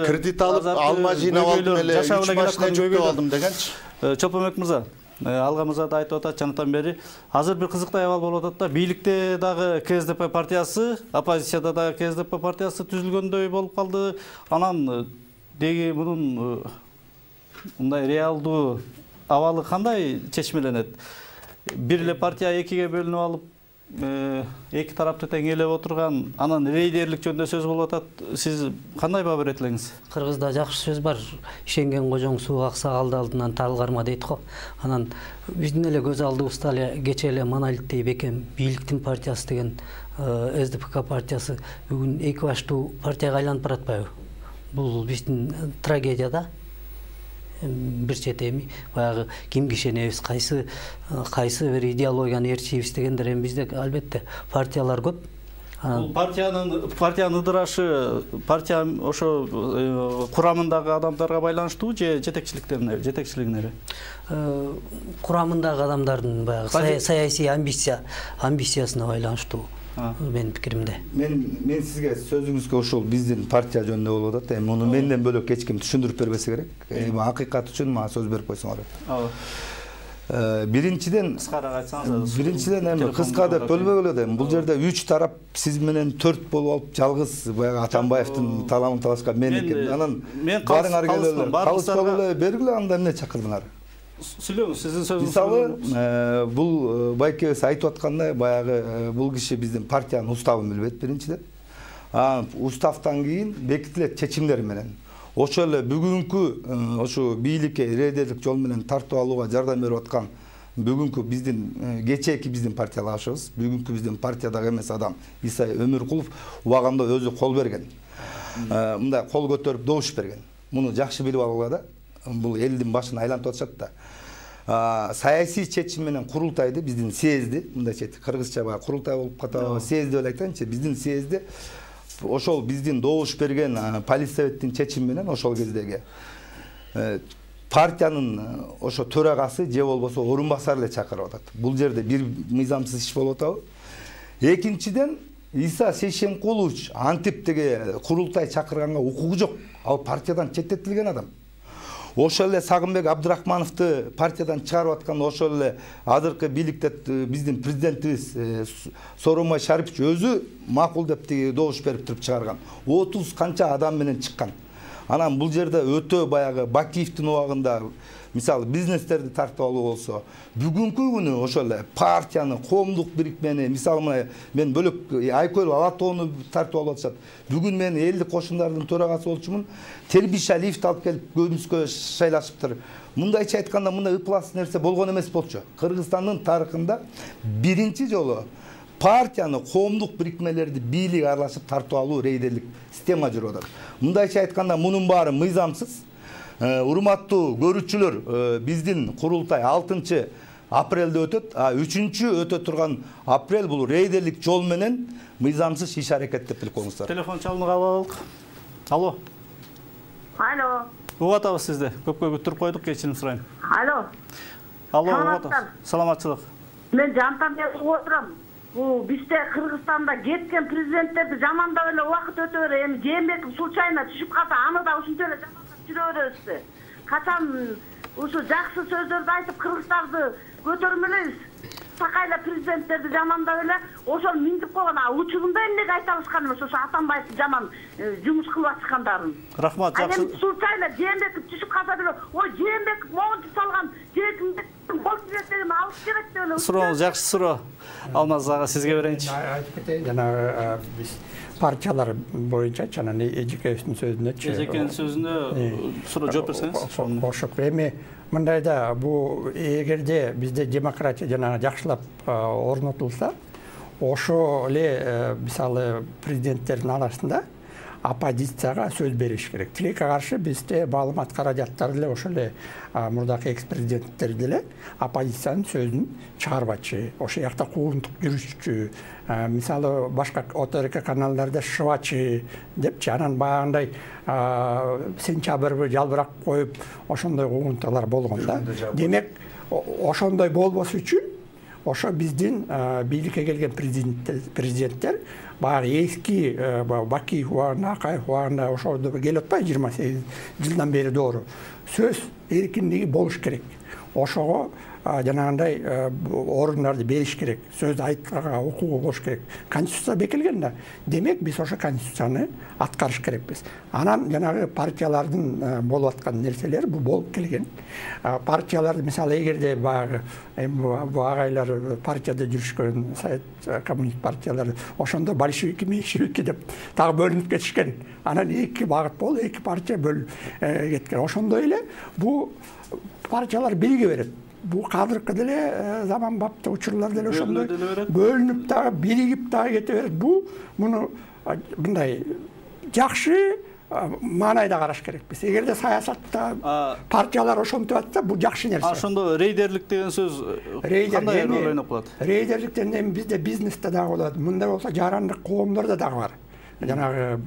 Кредит алып, алма жыйнап алдым эле, 3 машина жүктөп алдым дегенчи. Чолпонбек мырза, Алга мырза да айтып атат жанатан бери. Азыр бир кызыктуу абал болуп атат да. Бийликте дагы КСДП партиясы, оппозицияда дагы КСДП партиясы түзүлгөндөй болуп калды. Анан деги мунун мындай реалдуу абалы кандай чечмеленет? Бир эле партия экиге бөлүнүп алып, эки тарапты тең ээлеп отурган, анан рейдерлик жөнүндө сөз болуп атат. Сиз кандай баа берет элеңиз? Кыргызда жакшы сөз бар. Ишенген кожоң суу акса алды алдынан талгарма дейт го. Анан биздин эле көз алдыбызда эле кече эле монолиттей бекем бийликтин партиясы деген СДПК партиясы бүгүн эки баштуу партияга айланып баратпайбы? Бул биздин трагедия да. Бир четеми баягы кимге ишенебиз, кайсы бир идеологияны ээрчийбиз дегендер эми бизде албетте партиялар көп. Бул партиянын ыдырашы партия ошо курамындагы адамдарга байланыштуу же жетекчилигине? Курамындагы адамдардын баягы саясий амбициясына байланыштуу. Менин пикиримде. Мен сизге сөзүңүзгө ошол биздин партия жөнүндө болуп атат. Эми муну менден бөлөк эч ким түшүндүрүп бербесе керек. Акыйкат үчүн мага сөз берип койсоңор. Биринчиден эми кыска деп бөлбөгүлө да. Бул жерде 3 тарап сиз менен 4 болуп алып жалгыз баягы Атамбаевдин таламын талашка мен экен. Анан барыңар келелер. Калыспагылы бергиле, анда эмне чакырдыңар? Сүйлөңүз, сиздин сөзүңүз. Мисалы, бул байкебиз айтып аткандай, баягы бул киши биздин партиянын уставын билбейт биринчиден. Уставтан кийин бекитилет чечимдер менен. Ошол эле бүгүнкү ошо бийликке рейдерлик жол менен тартып алууга жардам берип аткан бүгүнкү биздин кечээки биздин партиялашыбыз, бүгүнкү биздин партиядагы эмес адам Исай Өмүркулов убагында өзү кол берген. Мындай кол көтөрүп добуш берген. Муну жакшы билип алгыла да. Бул элдин башын айлантып атышат да. Саясий чечим менен курултайды биздин съезди, мындайча кыргызча баягы курултай болуп катабы, съезди деп айтайынчы, биздин съезди ошол биздин добуш берген политсоветтин чечими менен ошол кездеги партиянын ошо төрагасы же болбосо орун басары эле чакырып атат. Бул жерде бир мыйзамсыз иш болуп атабы? Экинчиден Иса Шейшенкулович антип деге курултай чакырганга укугу жок. Ал партиядан четтетилген адам. Ошол эле Сагынбек Абдрахмановду партиядан чыгарып аткан ошол эле азыркы бийликте биздин президентибиз Сооронбай Шарипович өзү макул деп добуш берип туруп чыгарган. 30 канча адам менен чыккан. Анан бул жерде өтө баягы Бакиевдин убагында мисалы бизнестерди тартып алуу болсо, бүгүнкү күнү ошол эле партияны, коомдук бирикмени, мисалы мына мен бөлөк Айкөл Алатоону тартып алып атышат. Бүгүн мен элдик кошундардын төрагасы болчумун. Тербишалиевди алып келип көбүнүскө шайлашыптыр. Мындайча айтканда мындай ыплас нерсе болгон эмес болчу. Кыргызстандын тарыхында биринчи жолу партияны, коомдук бирикмелерди бийлик аралашып тартып алуу рейдерлик система жүрүп атат. Мындайча айтканда мунун баары мыйзамсыз. Урматтуу көрүүчүлөр, биздин курултай 6 апрелде өтөт, 3 өтө турган апрель бул рейдерлик жол менен мыйзамсыз иш аракет деп билип коюңуздар. Телефон чалууга алалык. Алло. Алло. Угуп атабыз сизди. Көпкө күттүрүп койдук, кечирим сурайм. Алло. Алло, угуп атабыз. Саламатчылык. Мен жантан бери угуп отурам. Бул бизде Кыргызстанда кеткен президенттерди жамандап эле убакыт өтө бере. Эми Жээнбеков случайно түшүп калса, аны да ушинтип эле жамандап жүрө беребизби? Качан ушу жакшы сөздөрдү айтып кыргыздарды көтөрмөлөйбүз? такайла президенттерди жамандап эле ошол миндип койгон учурунда эмнеге айта алышкан эмес ошо Атамбаевди жаман жумуш кылып аткандарын. Рахмат, жакшы. Эми случайно Жээнбеков түшүп калса деле, ой Жээнбеков могунчу салган Жээнбеков болуп кеткен алып керек деп эле. Сурооңуз жакшы суроо. Алмаз ага сизге берейинчи. Айтып кетейин, жанагы биз партиялар боюнча жана эжекебиздин сөзүнөчү. Эжекенин сөзүнө суроо жооп берсеңиз. Кошуп эми мындайда бул эгерде бизде демократия жанагы жакшылап орнотулса, ошо эле мисалы президенттердин арасында оппозицияга сөз бериш керек. Тилекке каршы бизде маалымат каражаттары деле ошол эле мурдакы экс-президенттер деле оппозициянын сөзүн чыгарбачы, ошол жакта куугунтук жүрүшчү, мисалы башка ОТРК каналдарда шыбачы депчи, анан баягындай сентябрьбы жалбырак коюп ошондой куугунтуктар болгон да. Демек ошондой болбош үчүн ошо биздин бийликке келген президенттер баягы эски Бакиев убагында, Акаев убагында ошондо келип атпайбы 28 жылдан бери доору. Сөз эркиндиги болуш керек. Ошого жанагындай орундарды бериш керек. Сөз айтканга укугу болуш керек. Конституция бекилген да. Демек биз ошо конституцияны аткарыш керекпиз. Анан жанагы партиялардын болуп аткан нерселер бул болуп келген. Партияларды мисалы эгерде баягы бу агайлар партияда жүрүшкөн Совет коммунист партиялары ошондо большевики меньшевики деп так бөлүнүп кетишкен. Анан эки багыт болуп, эки партия бөлүнүп кеткен. Ошондой эле бул партиялар бириге берет. Бул кадыркы деле заманбапты учурлар деле ошондой бөлүнүп дагы биригип дагы кете берет. Бул муну мындай жакшы маанайда караш керекпиз. Эгерде саясатта партиялар ошентип атса, бул жакшы нерсе. Ошондо рейдерлик деген сөз кандай роль ойноп калат? Рейдерликтен эми бизде бизнесте дагы болот. Мындай болсо жарандык коомдордо дагы бар. Жанагы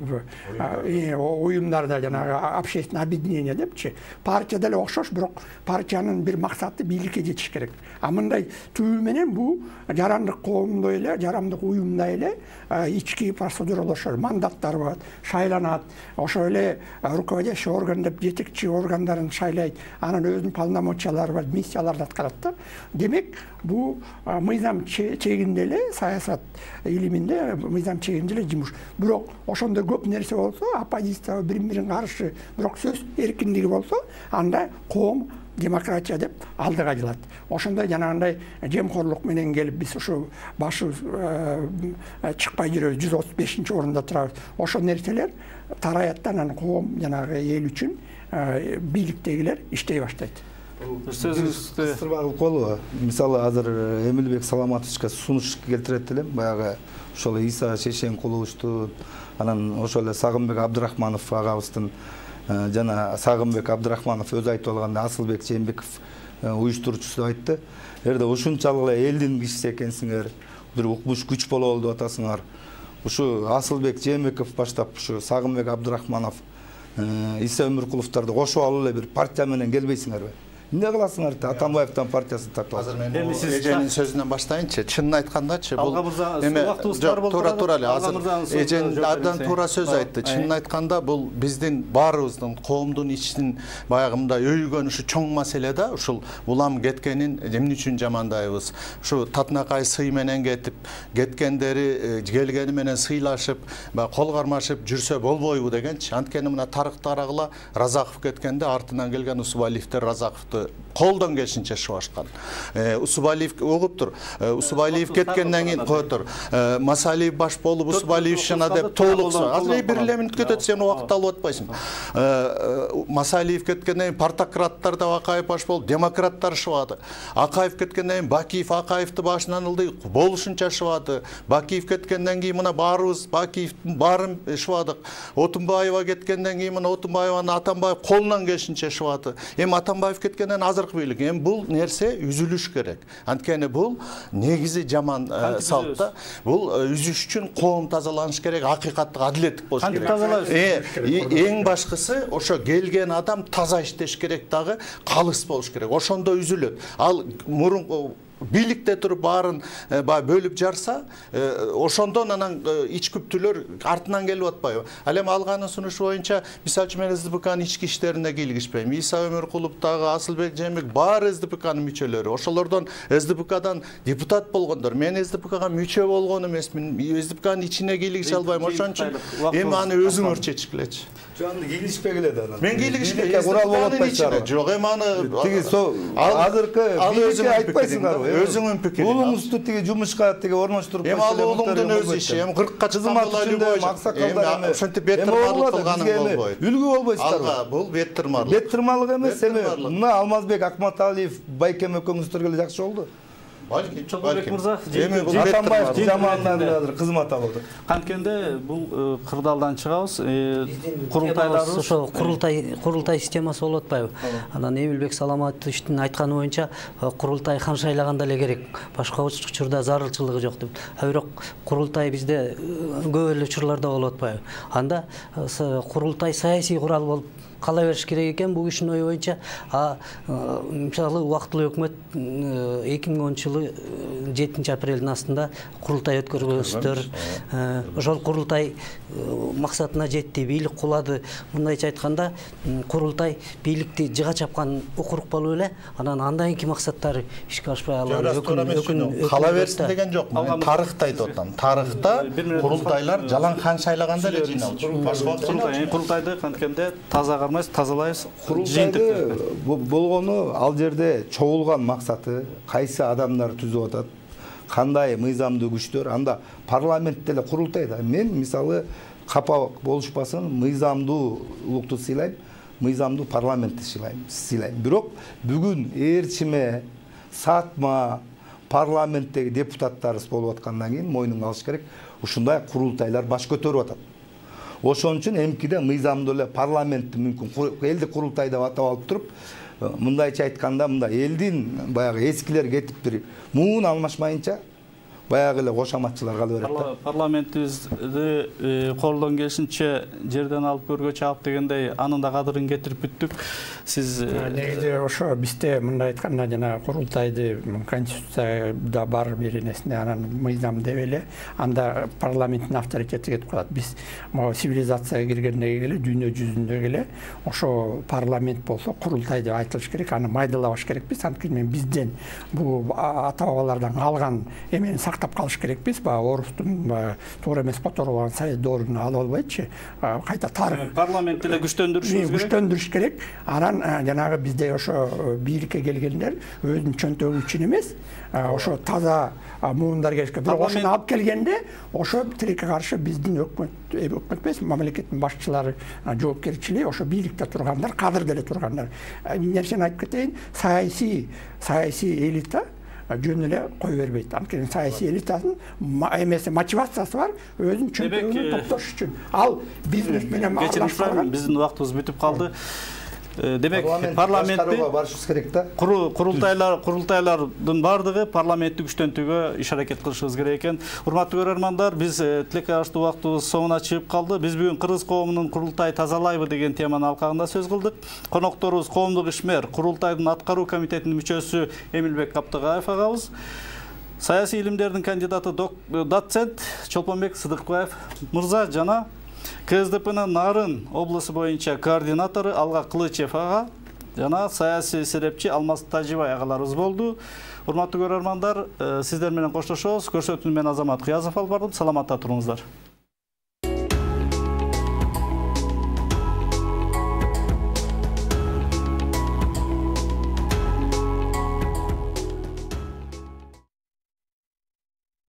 уюмдарда жанагы общественное объединение депчи, партия деле окшош, бирок партиянын бир максаты бийликке жетиш керек. А мындай түбү менен бул жарандык коомдой эле, жарандык уюмда эле ички процедуралашат, мандаттар болот, шайланат. Ошо эле руководящий орган деп жетекчи органдарын шайлайт, анан өзүнүн полномочиялары бар, миссияларды аткарат да. Демек, бул мыйзам чегинде эле саясат илиминде мыйзам чегинде эле жумуш. Бирок ошондой көп нерсе болсо, оппозиция бири-бирин каршы, бирок сөз эркиндиги болсо, анда коом демократия деп алдыга жылат. Ошондой жанагындай жемкорлук менен келип биз ушу башы чыкпай жүрөбүз, 135-орунда турабыз. Ошол нерселер тараят, анан коом жанагы эл үчүн бийликтегилер иштей баштайт. Кыстырбагыл колу, мисалы азыр Эмилбек Саламатовичке сунуш келтирет элем, баягы ошол Иса Шешенкуловичту, анан ошол эле Сагынбек Абдрахманов агабыздын жана Сагынбек Абдрахманов өзү айтып алганда Асылбек Жээнбеков уюштуруучусу айтты. Эгерде ушунчалык эле элдин кишиси экенсиңер, бир укмуш күч болобу деп атасыңар. Ушу Асылбек Жээнбеков баштап ушу Сагынбек Абдрахманов, Иса Өмүркуловдорду кошуп алып эле бир партия менен келбейсиңерби? Эмне кыласыңар? Атамбаевдин партиясын тартып алып. Азыр мен эженин сөзүнөн баштайынчы. Чынын айткандачы, бул туура эле азыр эжен абдан туура сөз айтты. Чынын айтканда бул биздин баарыбыздын коомдун ичинин баягы мындай өйгөн ушу чоң маселе да. Ушул улам кеткенин эмне үчүн жамандайбыз? Ушу татынакай сый менен кеткендери келгени менен сыйлашып, кол кармашып жүрсө болбойбу дегенчи. Анткени мына тарыктарагыла Разаков кеткенде артынан келген Усубалиевдер Разаковду колдон келишинче шыбашкан. Усубалиев угуп тур. Усубалиев кеткенден кийин кое тур. Масалиев баш болуп Усубалиев шына деп толук. Азыр бир эле мүнөт кетет, сен убакыт алып атпайсың. Масалиев кеткенден кийин партократтар да Акаев баш болуп, демократтар шыбады. Акаев кеткенден кийин Бакиев Акаевди башынан ылды, болушунча шыбады. Бакиев кеткенден кийин мына баарыбыз Бакиевдин баарын шыбадык. Отунбаева кеткенден кийин мына Отунбаеваны Атамбаев колунан келишинче шыбады. Эми Атамбаев кеткенден азыркы бийлик. Эми бул нерсе үзүлүш керек. Анткени бул негизи жаман салт да. Бул үзүш үчүн коом тазаланыш керек, акыйкаттык адилеттик болуш керек. Эң башкысы ошо келген адам таза иштеш керек дагы, калыс болуш керек. Ошондо үзүлөт. Ал мурунку бийликте туруп баарын бөлүп жарса, ошондон анан ичкүптүүлөр артынан келип атпайбы? Ал эми алганын сунушу боюнча, мисалы үчүн мен СДПКнын ички иштерине кийлигишпейм. Иса Өмөркулов дагы, Асылбек Жээнбек баары СДПКнын мүчөлөрү. Ошолордон СДПКдан депутат болгондор. Мен СДПКга мүчө болгон эмесмин. СДПКнын ичине кийлигише албайм. Ошон үчүн эми аны өзүңөр чечкилечи. Жөн кийлигишпей келет анан. Мен кийлигишпей. Курал болот байчар. Жок, эми аны тиги азыркы бийликке айтпайсыңарбы? Өзүңүн пикириң. Уулуңузду тиги жумушка тиги орноштуруп эми ал уулуңдун өз иши. Эми 40ка чыккан эми ошентип бет тырмарлык кылганың болбойт. Үлгү болбойсуздарбы? Алга бул бет тырмарлык. Бет тырмарлык эмес, эми мына Алмазбек Акматалиев, Байкем экөөңүздөр келе жакшы болду. Чолпонбек мырза, Атамбаев жамаатынан азыр кызмат алып атат. Канткенде бул кырдаалдан чыгабыз. Курултайларыбыз ошо курултай системасы болуп атпайбы? Анан Эмилбек Саламатовичтин айтканы боюнча курултай хан шайлаганда эле керек. Башка учурда зарылчылыгы жок деп. Бирок курултай бизде көп эле учурларда болуп атпайбы? Анда курултай саясий курал болуп кала бериш керек экен. Бул кишинин ою боюнча мисалы убактылуу өкмөт 2010-жылы 7-апрелдин астында курултай өткөргөнсүздөр. Ошол курултай максатына жетти, бийлик кулады. Мындайча айтканда, курултай бийликти жыга чапкан укурук болуп эле, анан андан кийинки максаттары ишке ашпай алат. Кала берсин деген жок. Тарыхта айтып атам. Тарыхта курултайлар жалаң хан шайлаганда эле жыйналчу. Башка курултайды канткенде таза кармайбыз, тазалайбыз. Курултайды болгону ал жерде чогулган максаты, кайсы адамдар түзүп атат, кандай мыйзамдуу күчтөр, анда парламентте эле курултайда. Мен мисалы капа болушпасын, мыйзамдуулукту сыйлайм, мыйзамдуу парламентти сыйлайм. Бирок бүгүн ээрчиме, сатма парламенттеги депутаттарыбыз болуп аткандан кийин мойнуңа алыш керек, ушундай курултайлар баш көтөрүп атат. Ошон үчүн эмкиде мыйзамдуу эле парламентти мүмкүн элдик курултай деп атап алып туруп, мындайча айтканда, мында элдин баягы эскилер кетип бир муун алмашмайынча баягы эле кошаматчылар кала берет да. Парламентибизди колдон келишинче жерден алып көргө чаап дегендей, анын да кадырын кетирип бүттүк. Сиз негизи ошо бизде мындай айтканда жана курултайды конституцияда бар бир нерсене анан мыйзам деп эле анда парламенттин авторитети кетип калат. Биз могу цивилизацияга киргендеги эле дүйнө жүзүндөгү эле ошо парламент болсо курултай деп айтылыш керек, аны майдалабаш керекпиз. Анткени бизден бул ата бабалардан калган эмени сактап калыш керекпиз. Орустун туура эмес которулган совет доорунан алып албайчы, кайта тарых парламентти эле күчтөндүрүш керек. Анан жанагы бизде ошо бийликке келгендер өзүнүн чөнтөгү үчүн эмес, ошо таза муундар келишке. Бирок ошону алып келгенде ошо тилекке каршы биздин өкмөт эмес, мамлекеттин башчылары жоопкерчилиги ошо бийликте тургандар, кадыр деле тургандар. Нерсени айтып кетейин, саясий элита жөн эле кой бербейт. Анткени саясий элитанын эмеси мотивациясы бар, өзүнүн чөнтөгүн топтош үчүн. Ал бизнес менен аралашкан. Биздин убактыбыз бүтүп калды. Демек парламентти барышыбыз керек да. Курултайлардын бардыгы парламентти күчтөнтүүгө иш аракет кылышыбыз керек экен. Урматтуу көрөрмандар, биз тилекке каршы убактыбыз соңуна чыгып калды. Биз бүгүн кыргыз коомунун курултай тазалайбы деген теманын алкагында сөз кылдык. Конокторубуз коомдук ишмер, курултайдын аткаруу комитетинин мүчөсү Эмилбек Каптыгаев агабыз. Саясий илимдердин кандидаты доцент Чолпонбек Сыдыкбаев мырза жана КСДПнын Нарын облусу боюнча координатору Алга Кылычев ага жана саясий серепчи Алмаз Тажибай агаларыбыз болду. Урматтуу көрөрмандар, сиздер менен коштошобуз. Көрсөтүүнү мен Азамат Кыязов алып бардым. Саламатта туруңуздар.